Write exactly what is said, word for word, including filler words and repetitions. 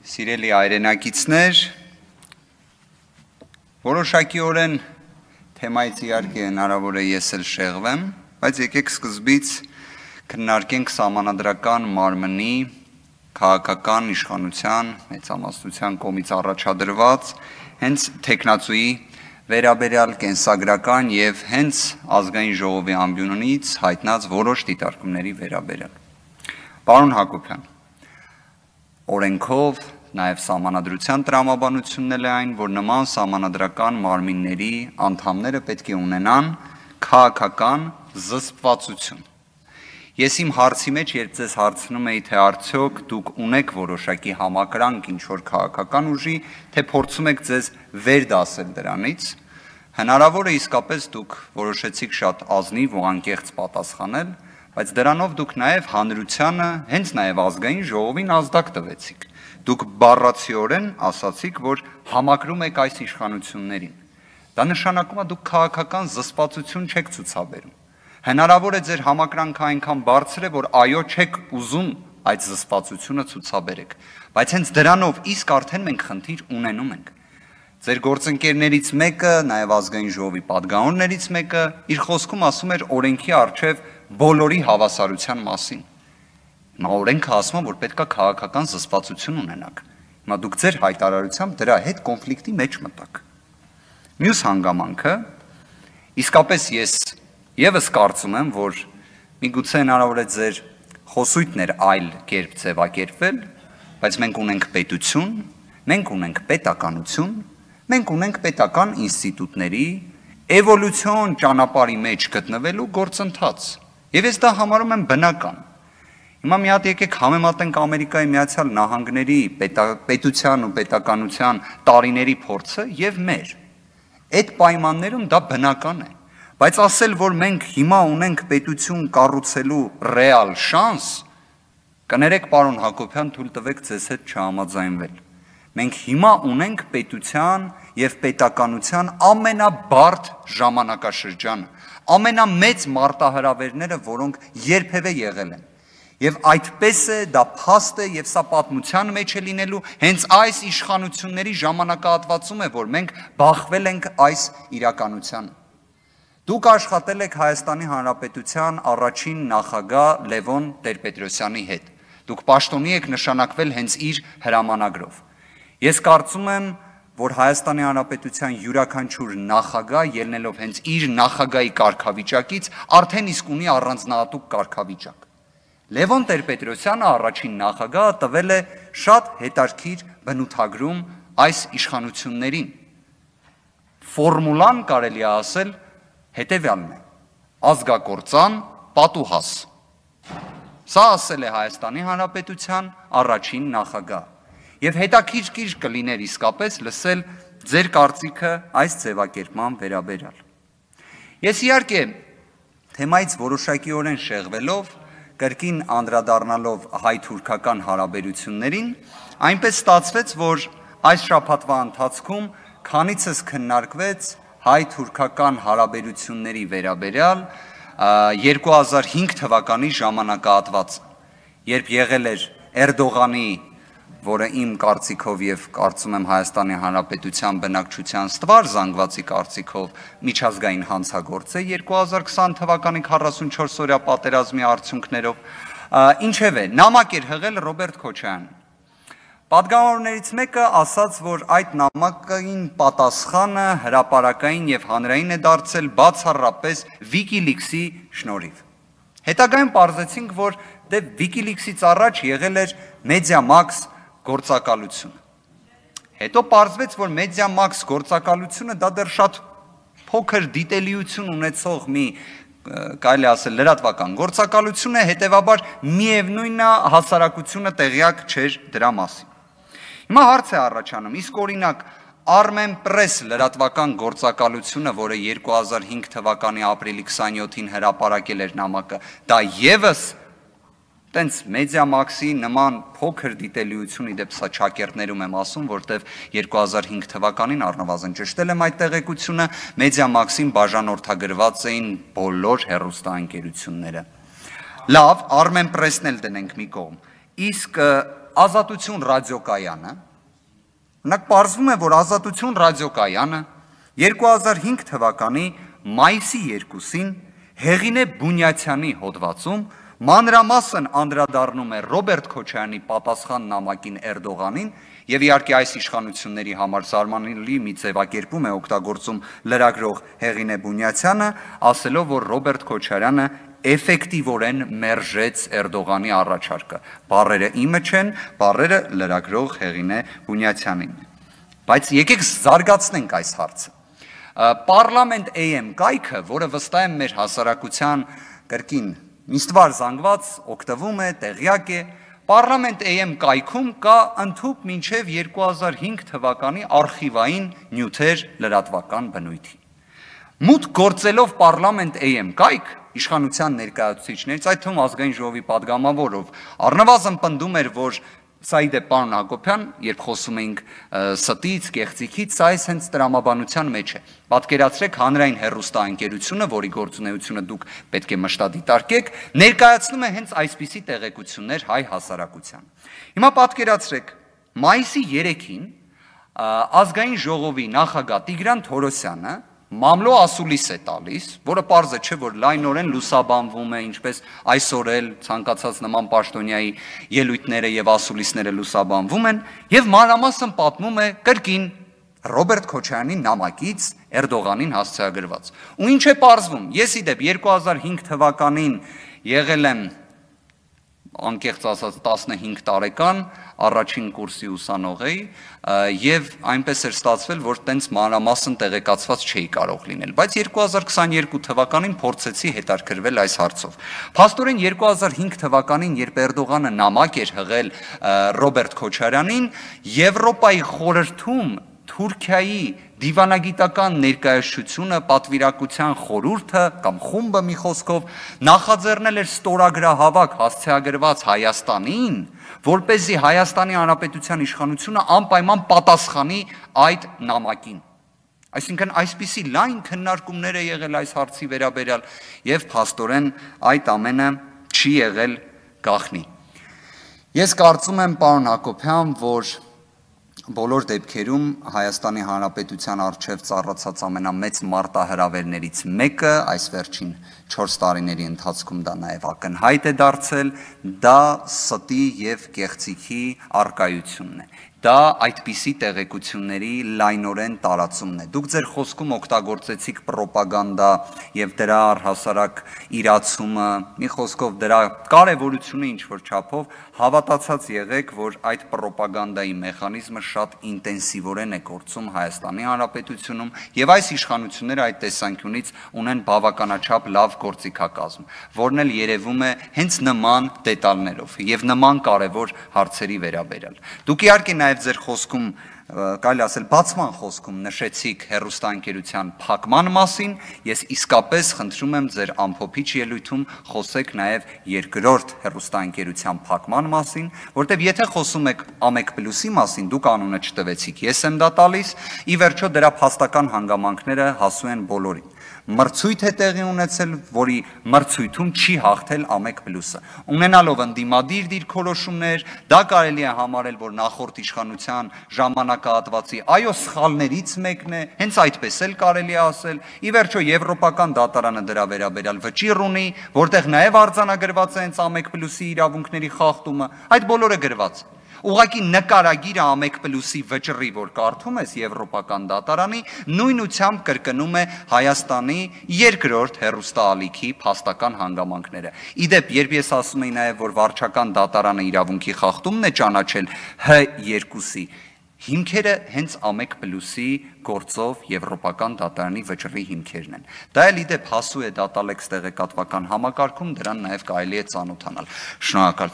Սիրելի հայրենակիցներ, որոշակիորեն թեմայից իհարկե հնարավոր է ես էլ շեղվեմ, բայց եկեք սկզբից քննարկենք սահմանադրական մարմնի քաղաքական իշխանության մեծամասնության կողմից առաջադրված հենց թեկնածուի վերաբերյալ կենսագրական եւ հենց ազգային ժողովի ամբիոնից հայտնած որոշ դիտարկումների վերաբերյալ։ Պարոն Հակոբյան, օրենքով, նաև սահմանադրության տրամաբանությունն էլ է այն, որ նման սահմանադրական մարմինների անդամները պետք է ունենան քաղաքական զսպվածություն։ Ես իմ հարցի մեջ, երբ ձեզ հարցնում էի, թե արդյոք դուք ունեք որոշակի համակրանք ինչ-որ քաղաքական ուժի, թե փորձում եք ձեզ վերդասել դրանից, հնարավոր է իսկապես դուք որոշեցիք շատ ազնիվ ու անկեղծ պատասխանել, բայց դրանով դուք նաև հանրությանը, հենց նաև ազգային ժողովին ազդակ տվեցիք։ Դուք բառացիորեն ասացիք, որ համակրում եք այս իշխանություններին։ Դա նշանակում է դուք քաղաքական զսպվածություն չեք ցուցաբերում։ Հնարավոր է ձեր համակրանքը այնքան բարձր է, որ այո, չեք ուզում այդ զսպվածությունը ցուցաբերեք, բայց հենց դրանով իսկ արդեն մենք խնդիր ունենում ենք։ Ձեր գործընկերներից մեկը, նաև ազգային ժողովի պատգամավորներից մեկը իր խոսքում ասում էր օրենքի առջև բոլորի հավասարության մասին։ Հիմա օրենքը ասում է, որ պետք է քաղաքական զսպվածություն ունենաք։ Հիմա դուք ձեր հայտարարությամբ դրա հետ կոնֆլիկտի մեջ մտաք։ Մյուս հանգամանքը, իսկապես ես եւս կարծում եմ, որ միգուցե հնարավոր է ձեր խոսույթն էր այլ կերպ ձևակերպվել, բայց մենք ունենք պետություն, մենք ունենք պետականություն, մենք ունենք պետական ինստիտուտների էվոլյուցիոն ճանապարհի մեջ գտնվելու գործընթաց։ Եվ ես դա համարում եմ բնական։ Հիմա մի հատ եկեք համեմատենք Ամերիկայի Միացյալ Նահանգների պետության ու պետականության տարիների փորձը եւ մեր։ Այդ պայմաններում դա բնական է։ Բայց ասել, որ մենք հիմա ունենք պետություն կառուցելու ռեալ շանս, կներեք պարոն Հակոբյան, թույլ տվեք ձեզ հետ չհամաձայնվել։ Մենք հիմա ունենք պետության եւ պետականության ամենաբարդ ժամանակաշրջանը, ամենամեծ մարտահրավերները, որոնք երբևէ եղել են։ Եվ այդպես է, դա փաստ է եւ սա պատմության մեջ է լինելու հենց այս իշխանությունների ժամանակահատվածում է, որ մենք բախվել ենք այս իրականությանը։ Դուք աշխատել եք Հայաստանի Հանրապետության առաջին նախագահ Լևոն Տեր-Պետրոսյանի հետ։ Դուք պաշտոնի եք նշանակվել հենց իր հրամանագրով։ Ես կարծում եմ, որ Հայաստանի Հանրապետության յուրաքանչյուր նախագահ ելնելով հենց իր նախագահի կարգավիճակից արդեն իսկ ունի առանձնահատուկ կարգավիճակ։ Լևոն Տեր-Պետրոսյանը առաջին նախագահը տվել է շատ հետաքրքիր բնութագրում այս իշխանություններին։ Ֆորմուլան կարելի է ասել հետևյալն է. ազգակործան պատուհաս։ Սա ասել է Հայաստանի Հանրապետության առաջին նախագահ։ Եվ հետաքրքիր կլիներ իսկապես լսել ձեր կարծիքը այս ձևակերպման վերաբերյալ։ Ես իհարկե թեմայից որոշակիորեն շեղվելով, կրկին անդրադառնալով հայ-թուրքական հարաբերություններին, այնպես ստացվեց, որ այս շաբաթվա ընթացքում քանիցս քննարկվեց հայ-թուրքական հարաբերությունների վերաբերյալ երկու հազար հինգ թվականի ժամանակահատվածը, երբ եղել էր Էրդողանի, որը իմ կարծիքով եւ կարծում եմ Հայաստանի Հանրապետության բնակչության ստվար զանգվածի կարծիքով միջազգային հանցագործ է երկու հազար քսան թվականի քառասունչորս-օրյա պատերազմի արդյունքներով, ինչևէ, նամակ էր հղել Ռոբերտ Քոչարյանը։ Պատգամավորներից մեկը ասաց, որ այդ նամակին պատասխանը հրապարակային եւ հանրային է դարձել բացառապես Wikileaks-ի շնորհիվ։ Հետագայում պարզեցինք, որ դե Wikileaks-ից առաջ եղել էր Media-Max գործակալությունը։ Հետո պարզվեց, որ Media-Max գործակալությունը դա դեռ շատ փոքր դիտելիություն ունեցող մի, կարելի ասել, լրատվական գործակալություն է, հետևաբար միևնույնն է հասարակությունը տեղյակ չէր դրա մասին։ Հիմա հարց է առաջանում, իսկ օրինակ Armenpress լրատվական գործակալությունը, որը երկու հազար հինգ թվականի ապրիլի քսանյոթին հրապարակել էր նամակը, դա եւս տենց Media-Max-ի նման փոքր դիտելիություն, իդեպ սա ճակերտներում եմ ասում, որտեվ երկու հազար հինգ թվականին առնվազն ճշտել եմ այդ տեղեկությունը, Media-Max-ին բաժանորդագրված էին բոլոր հեռուստաընկերությունները։ Լավ, Armenpress-ն էլ դնենք մի կողմ։ Իսկ Ազատություն ռադիոկայանը, նրանք պարզվում է, որ Ազատություն ռադիոկայանը երկու հազար հինգ թվականի մայիսի երկուսին Հեղինե Բունյաթյանի հոդվածում մանրամասն անդրադառնում է Ռոբերտ Քոչարյանի պատասխան նամակին Էրդողանին եւ իհարկե այս իշխանությունների համար զարմանալի մի ձևակերպում է օգտագործում լրագրող Հեղինե Բունյաթյանը, ասելով, որ Ռոբերտ Քոչարյանը էֆեկտիվորեն մերժեց Էրդողանի առաջարկը։ Բառերը իմը չեն, բառերը լրագրող Հեղինե Բունյաթյանին։ Բայց եկեք զարգացնենք այս հարցը։ Պարլամենտ A M կայքը, որը վստահ եմ մեր հասարակության կրկին միստվար զանգված օգտվում է, տեղյակ է, Պարլամենտ A M կայքում կա ընդհուպ մինչև երկու հազար հինգ թվականի արխիվային նյութեր լրատվական բնույթի։ Մուտք գործելով Պարլամենտ A M կայք իշխանության ներկայացուցիչներից, այդ թվում ազգային ժողովի падգամավորով, առնվազն պնդում էր, որ սա ի դեպ պարոն Հակոբյան, երբ խոսում էինք ստից, կեղծիքից, սա այս հենց տրամաբանության մեջ է։ Պատկերացրեք հանրային հեռուստաընկերությունը, որի գործունեությունը դուք պետք է մշտադիտարկեք, ներկայացնում է հենց այսպիսի տեղեկություններ հայ հասարակության։ Հիմա պատկերացրեք, մայիսի երեքին ազգային ժողովի նախագահ Տիգրան Թորոսյանը մամլո ասուլիս է տալիս, որը պարզ է չէ, որ լայնորեն լուսաբանվում է, ինչպես այսօր էլ ցանկացած նման պաշտոնյայի ելույթները եւ ասուլիսները լուսաբանվում են, եւ մանրամասն պատմում է կրկին Ռոբերտ Քոչարյանի նամակից Էրդողանին հասցեագրված։ Ու ինչ է պարզվում, ես ի դեպ երկու հազար հինգ թվականին եղել եմ անկեղծ ասած տասնհինգ տարեկան, առաջին կուրսի ուսանող էի եւ այնպես էր ստացվել, որ տենց մանրամասն տեղեկացված չէի կարող լինել, բայց երկու հազար քսաներկու թվականին փորձեցի հետաքրքրվել այս հարցով։ Փաստորեն երկու հազար հինգ թվականին, երբ Էրդողանը նամակ էր հղել Ռոբերտ Քոչարյանին, Եվրոպայի խորհրդում Թուրքիայի դիվանագիտական ներկայացությունը, պատվիրակության խորհուրդը կամ խումբը մի խոսքով նախաձեռնել էր ստորագրահավաք հասցեագրված Հայաստանին, որպեսզի Հայաստանի Հանրապետության իշխանությունը անպայման պատասխանի այդ նամակին։ Այսինքն այսպիսի լայն քննարկումներ է եղել այս հարցի վերաբերյալ եւ փաստորեն այդ ամենը չի եղել գաղտնի։ Ես կարծում եմ, պարոն Հակոբյան, որ բոլոր դեպքերում Հայաստանի Հանրապետության առջև ծառացած ամենամեծ մարտահրավերներից մեկը այս վերջին չորս տարիների ընթացքում դա նաև ակնհայտ է դարձել, դա ստի եւ կեղծիքի առկայությունն է։ Դա այդպիսի տեղեկությունների լայնորեն տարածումն է։ Դուք ձեր խոսքում օգտագործեցիք պրոպագանդա եւ դրա առհասարակ իրացումը, մի խոսքով դրա կարևորությունը ինչ-որ չափով հավատացած եղեք, որ այդ պրոպագանդայի մեխանիզմը շատ ինտենսիվորեն է գործում Հայաստանի Հանրապետությունում եւ այս իշխանությունները այդ տեսանկյունից ունեն բավականաչափ լավ գործիքակազմ, որն էլ երևում է հենց նման դետալներով եւ նման կարևոր հարցերի վերաբերյալ։ Դուք իհարկե նաև ձեր խոսքում, կարելի ասել բացման խոսքում նշեցիք հեռուստաընկերության փակման մասին, ես իսկապես խնդրում եմ ձեր ամփոփիչ ելույթում խոսեք նաև երկրորդ հեռուստաընկերության փակման մասին, որտեղ եթե խոսում եք Ամեկ Պլյուսի մասին, դուք անունը չտվեցիք, ես եմ դա տալիս, ի վերջո դրա փաստական հանգամանքները հասու են բոլորին։ Մրցույթ է տեղի ունեցել, որի մրցույթում չի հաղթել Ամեկ Պլյուսը։ Ունենալով ընդդիմադիր դիրքորոշումներ, դա կարելի է համարել, որ նախորդ իշխանության ժամանակահատվածի այո սխալներից մեկն է, հենց այդպես էլ կարելի է ասել։ Ի վերջո Եվրոպական դատարանը դրա վերաբերյալ վճիռ ունի, որտեղ նաև արձանագրված է հենց Ամեկ Պլյուսի իրավունքների խախտումը, այդ բոլորը գրված է։ Ուղղակի նկարագիրը Ամեկ Պլյուսի վճռի, որ կարդում ես Եվրոպական դատարանի, նույնությամբ կրկնում է Հայաստանի երկրորդ հեռուստաալիքի փաստական հանգամանքները։ Իդեպ, երբ ես ասում եի նաև, որ վարչական դատարանը իրավունքի խախտումն է ճանաչել Հ երկուսի, հիմքերը հենց Ամեկ Պլյուսի գործով Եվրոպական դատարանի վճռի հիմքերն են։ Դա էլ իդեպ հասու է Դատալեքս տեղեկատվական համակարգում, դրան նաև կարելի է ծանոթանալ։ Շնորհակալ